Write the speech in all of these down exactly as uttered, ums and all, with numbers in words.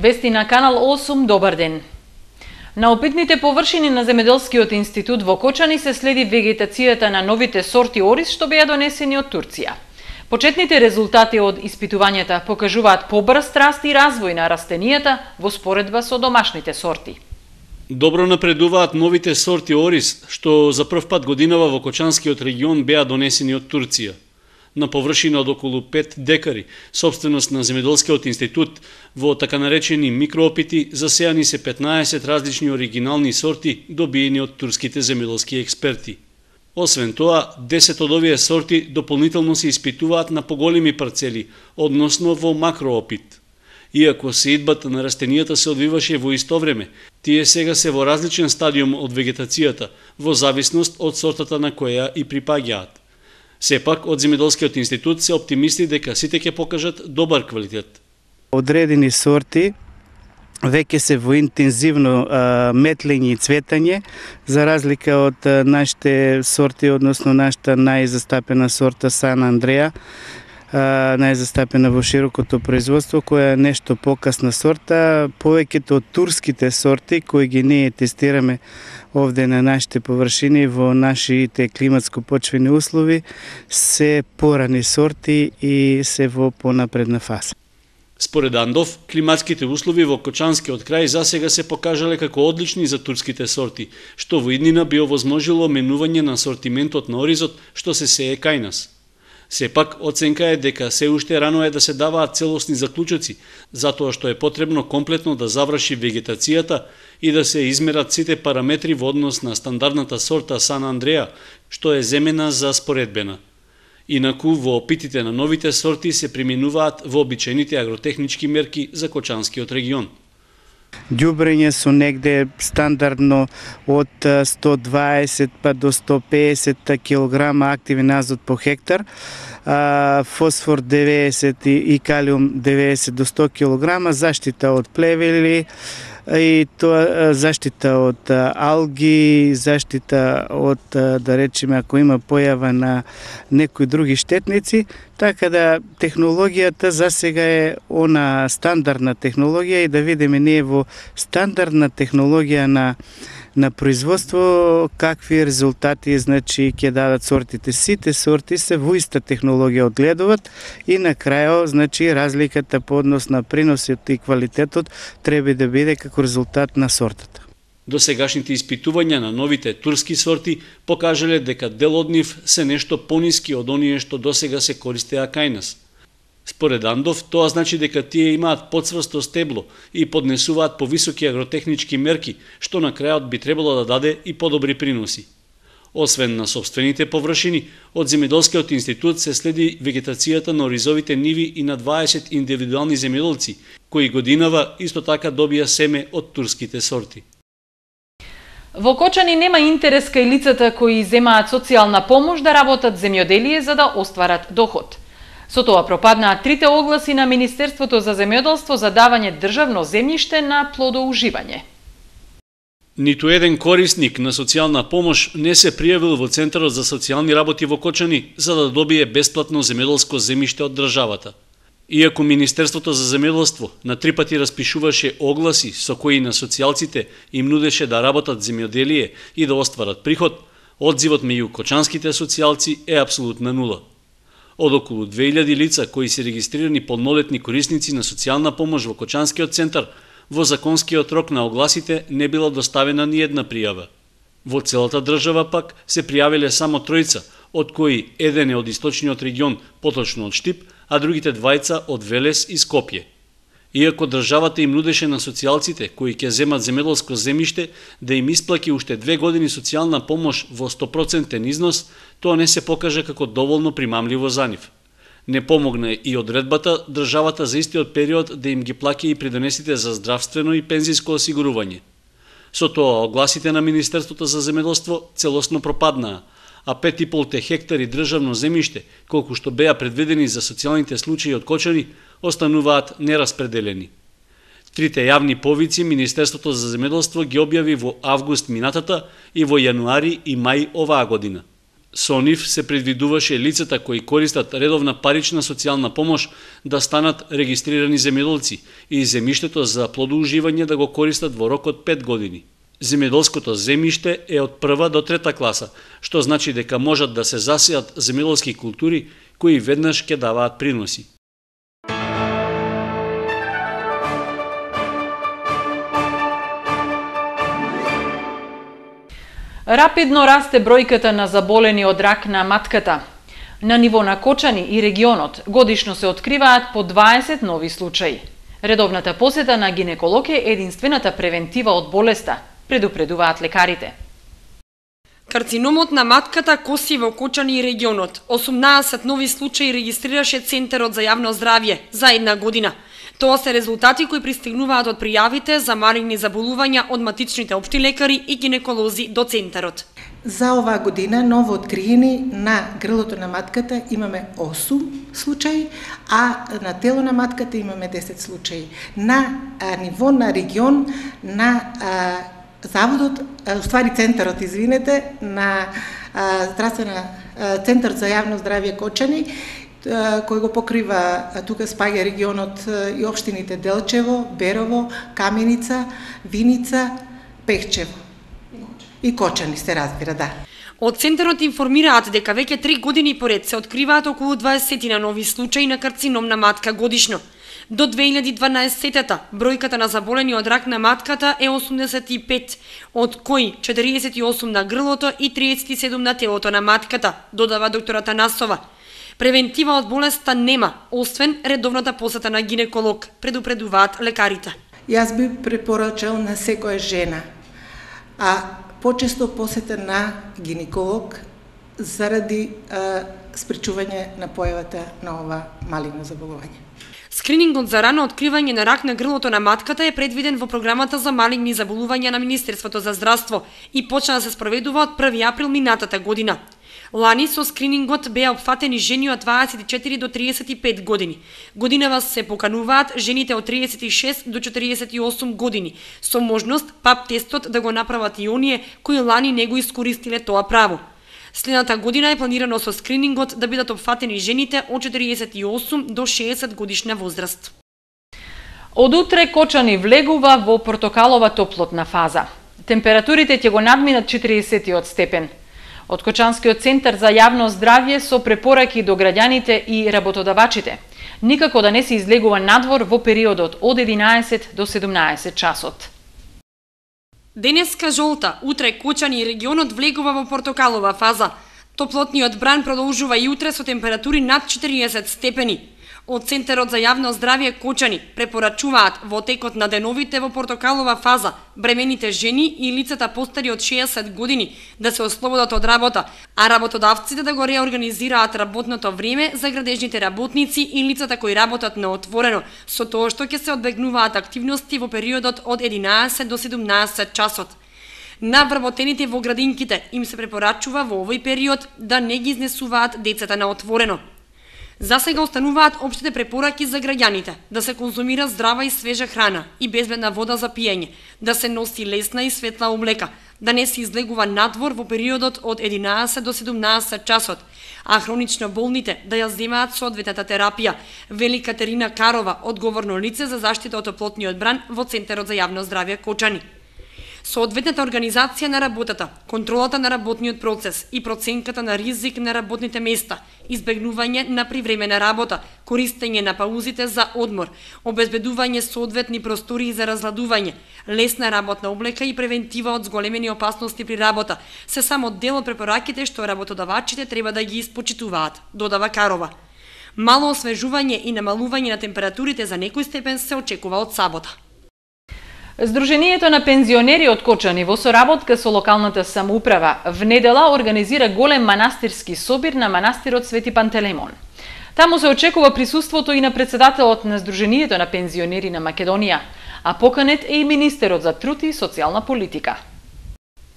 Вести на Канал осум, добар ден. На опитните површини на Земјоделскиот институт во Кочани се следи вегетацијата на новите сорти ориз што беа донесени од Турција. Почетните резултати од испитувањата покажуваат побрз раст и развој на растенијата во споредба со домашните сорти. Добро напредуваат новите сорти ориз што за прв пат годинава во Кочанскиот регион беа донесени од Турција. На површина од околу пет декари, собственост на Земјоделскиот институт, во така наречени микроопити засејани се петнаесет различни оригинални сорти добиени од турските земјоделски експерти. Освен тоа, десет од овие сорти дополнително се испитуваат на поголеми парцели, односно во макроопит. Иако сеидбата на растенијата се одвиваше во исто време, тие сега се во различен стадиум од вегетацијата, во зависност од сортата на која и припаѓаат. Сепак, од Земјоделскиот институт се оптимисти дека сите ќе покажат добар квалитет. Одредени сорти веќе се во интензивно а, метлење и цветање, за разлика од а, нашите сорти, односно нашата најзастапена сорта Сан Андреа, а, најзастапена во широкото производство, која е нешто покасна сорта. Повеќето од турските сорти, кои ги ние тестираме овде на нашите површини во нашите климатско-почвени услови, се порани сорти и се во понапредна фаза. Според Андов, климатските услови во Кочанскиот крај засега се покажале како одлични за турските сорти, што во иднина би овозможило менување на асортиментот на оризот што се сее кај нас. Сепак, оценка е дека се уште рано е да се даваат целосни заклучоци, затоа што е потребно комплетно да заврши вегетацијата и да се измерат сите параметри во однос на стандардната сорта Сан Андреа, што е земена за споредбена. Инаку, во опитите на новите сорти се применуваат вообичаените агротехнички мерки за Кочанскиот регион. Ѓубрење со негде стандардно од сто дваесет па до сто педесет килограма активен азот по хектар, фосфор деветдесет и калиум деветдесет до сто килограма, заштита од плевели и тоа заштита од алги, заштита од, да речеме, ако има појава на некои други штетници, така да технологијата засега е она стандардна технологија и да видиме ние во стандардна технологија на на производство какви резултати значи ќе дадат сортите. Сите сорти се во иста технологија одгледуваат и на крајот значи разликата по однос на приносот и квалитетот треба да биде како резултат на сортата. Досегашните испитувања на новите турски сорти покажале дека дел од нив се нешто пониски од оние што досега се користеа кај нас. Според Андов, тоа значи дека тие имаат подсврсто стебло и поднесуваат повисоки агротехнички мерки, што на крајот би требало да даде и подобри приноси. Освен на собствените површини, од Земјоделскиот институт се следи вегетацијата на оризовите ниви и на дваесет индивидуални земјоделци, кои годинава исто така добија семе од турските сорти. Во Кочани нема интерес кај лицата кои земаат социјална помош да работат земјоделие за да остварат доход. Со тоа пропаднаа трите огласи на Министерството за земјоделство за давање државно земјиште на плодоуживање. Ниту еден корисник на социјална помош не се пријавил во Центарот за социјални работи во Кочани за да добие бесплатно земјоделско земјиште од државата. Иако Министерството за земјоделство на три пати распишуваше огласи со кои на социјалците им нудеше да работат земјоделие и да остварат приход, одзивот меѓу кочанските социјалци е апсолутна нула. Од околу две илјади лица кои се регистрирани полнолетни корисници на социјална помош во Кочанскиот центар, во законскиот рок на огласите не била доставена ни една пријава. Во целата држава пак се пријавиле само тројца, од кои еден е од источниот регион, поточно од Штип, а другите двајца од Велес и Скопје. Иако државата им нудеше на социјалците кои ќе земат земјоделско земјиште да им исплаќи уште две години социјална помош во сто проценти износ, тоа не се покажа како доволно примамливо за нив. Не помогна и одредбата државата за истиот период да им ги плаќа и придонесите за здравствено и пензиско осигурување. Со тоа огласите на Министерството за земјоделство целосно пропаднаа, а пет и пол хектари државно земјиште, колку што беа предвидени за социјалните случаи од Кочани, остануваат нераспределени. Трите јавни повици Министерството за земјоделство ги објави во август минатата и во јануари и мај оваа година. Со нив се предвидуваше лицата кои користат редовна парична социјална помош да станат регистрирани земјоделци и земјиштето за плодоуживање да го користат во рок од пет години. Земјоделското земјиште е од прва до трета класа, што значи дека можат да се засејат земјоделски култури кои веднаш ќе даваат приноси. Рапидно расте бројката на заболени од рак на матката. На ниво на Кочани и регионот годишно се откриваат по дваесет нови случаи. Редовната посета на гинеколог е единствената превентива од болеста, предупредуваат лекарите. Карциномот на матката коси во Кочани и регионот. осумнаесет нови случаи регистрираше Центарот за јавно здравје за една година. Тоа се резултати кои пристигнуваат од пријавите за малигни заболувања од матичните општи лекари и гинеколози до Центарот. За оваа година ново откриени на грлото на матката имаме осум случаи, а на тело на матката имаме десет случаи. На а, ниво на регион на а, заводот, а, ствари Центарот, извинете, на а, здравствена а, Центар за јавно здравје Кочани, кој го покрива, тука спаѓа регионот и општините Делчево, Берово, Каменица, Виница, Пехчево и Кочани, се разбира, да. Од Центарот информираат дека веќе три години поред се откриваат околу дваесет на нови случаи на карцином на матка годишно. До две илјади и дванаесетта бројката на заболени од рак на матката е осумдесет и пет, од кои четириесет и осум на грлото и триесет и седум на телото на матката, додава доктор Атанасова. Превентива од болеста нема, освен редовната посета на гинеколог, предупредуваат лекарите. Јас би препорачал на секоја жена, а почесто посета на гинеколог заради а, спречување на појавата на ова малигно заболување. Скринингот за рано откривање на рак на грлото на матката е предвиден во програмата за малигни заболувања на Министерството за здравство и почна да се спроведува од први април минатата година. Лани со скринингот беа опфатени жени од дваесет и четири до триесет и пет години. Годинава се покануваат жените од триесет и шест до четириесет и осум години, со можност пап тестот да го направат и оние кои лани не го искористиле тоа право. Следната година е планирано со скринингот да бидат опфатени жените од четириесет и осум до шеесет годишна возраст. Од утре Кочани влегува во портокалова топлотна фаза. Температурите ќе го надминат четириесетиот степен. Од Кочанскиот центар за јавно здравје со препораки до граѓаните и работодавачите. Никако да не се излегува надвор во периодот од единаесет до седумнаесет часот. Денеска жолта, утре Кочани и регионот влегува во портокалова фаза. Топлотниот бран продолжува и утре со температури над четириесет степени. Од Центарот за јавно здравје Кочани препорачуваат во текот на деновите во портокалова фаза бремените жени и лицата постари од шеесет години да се ослободат од работа, а работодавците да го реорганизираат работното време за градежните работници и лицата кои работат на отворено, со тоа што ќе се одбегнуваат активности во периодот од единаесет до седумнаесет часот. На вработените во градинките им се препорачува во овој период да не ги изнесуваат децата на отворено. За сега остануваат општите препораки за граѓаните, да се конзумира здрава и свежа храна и безбедна вода за пиење, да се носи лесна и светла облека, да не се излегува надвор во периодот од единаесет до седумнаесет часот, а хронично болните да ја земаат соодветната терапија, вели Катерина Карова, одговорно лице за заштита од топлотниот бран во Центарот за јавно здравје Кочани. Соодветната организација на работата, контролата на работниот процес и проценката на ризик на работните места, избегнување на привремена работа, користење на паузите за одмор, обезбедување соодветни простори за разладување, лесна работна облека и превентива од зголемени опасности при работа, се само дел од препораките што работодавачите треба да ги испочитуваат, додава Карова. Мало освежување и намалување на температурите за некој степен се очекува од сабота. Сдруженијето на пензионери од Кочани во соработка со локалната самоуправа в недела организира голем манастирски собир на манастирот Свети Пантелеймон. Таму се очекува присуството и на председателот на Сдруженијето на пензионери на Македонија, а поканет е и министерот за труд и социјална политика.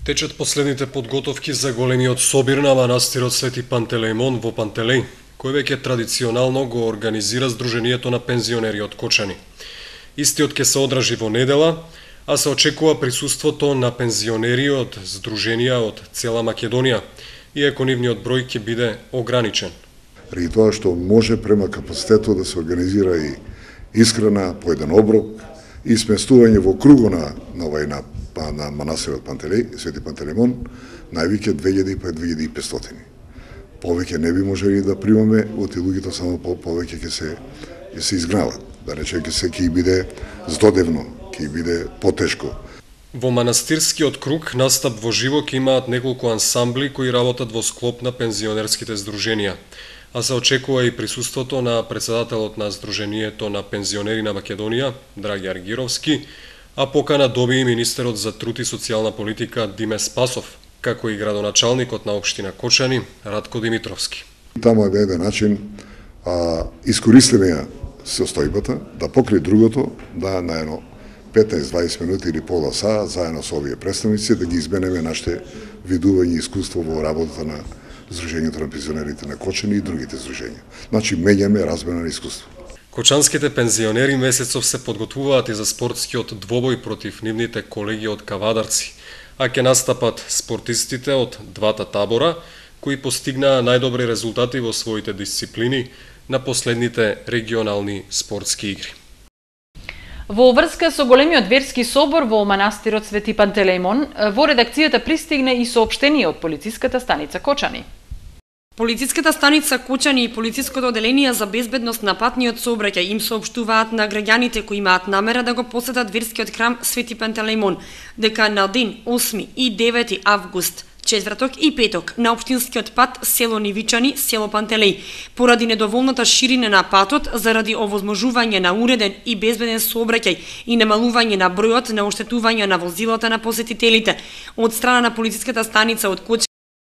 Течат последните подготовки за големиот собир на манастирот Свети Пантелеймон во Пантелеј, кој веќе традиционално го организира Сдруженијето на пензионери од Кочани. Истиот ќе се одржи во недела, а се очекува присуството на пензионери од здруженија од цела Македонија, иако нивниот број ќе биде ограничен. Ради тоа што може према капацитетот да се организира и исхрана по еден оброк и сместување во круго на, на, на, на манастирот Пантелеј, Свети Пантелеймон, највеќе две илјади па две илјади и петстотини. Повеќе не би можели да примаме, оти луѓето само по, повеќе ќе се, ќе се изгнават. Да рече, ќе се ќе биде здодевно, ќе биде потешко. Во манастирскиот круг настап во живо ќе имаат неколку ансамбли кои работат во склоп на пензионерските здруженија, а се очекува и присуството на председателот на Сдруженијето на пензионери на Македонија, Драги Аргировски, а покана доби и министерот за труд и социјална политика Диме Спасов, како и градоначалникот на општина Кочани, Радко Димитровски. Таму е на еден начин а, искористиме ја состојбата, да покри другото, да на едно петнаесет-дваесет минути или пола саа, заедно со овие представници, да ги изменеме нашите видување и искуство во работата на Сдруженијето на пензионерите на Кочани и другите здруженија. Значи, меѓаме размена на искуство. Кочанските пензионери месецов се подготвуваат и за спортскиот двобој против нивните колеги од Кавадарци, а ќе настапат спортистите од двата табора, кои постигнаа најдобри резултати во своите дисциплини на последните регионални спортски игри. Во врска со големиот верски собор во манастирот Свети Пантелеймон, во редакцијата пристигне и соопштение од полициската станица Кочани. Полициската станица Кочани и полициското одделение за безбедност на патниот сообраќај им соопштуваат на граѓаните кои имаат намера да го посетат верскиот храм Свети Пантелеймон, дека на ден осми и девети август, четврток и петок на општинскиот пат село Нивичани, село Пантелеј, поради недоволната ширина на патот заради овозможување на уреден и безбеден сообраќај и намалување на бројот на оштетувања на возилата на посетителите, од страна на полициската станица од Кочани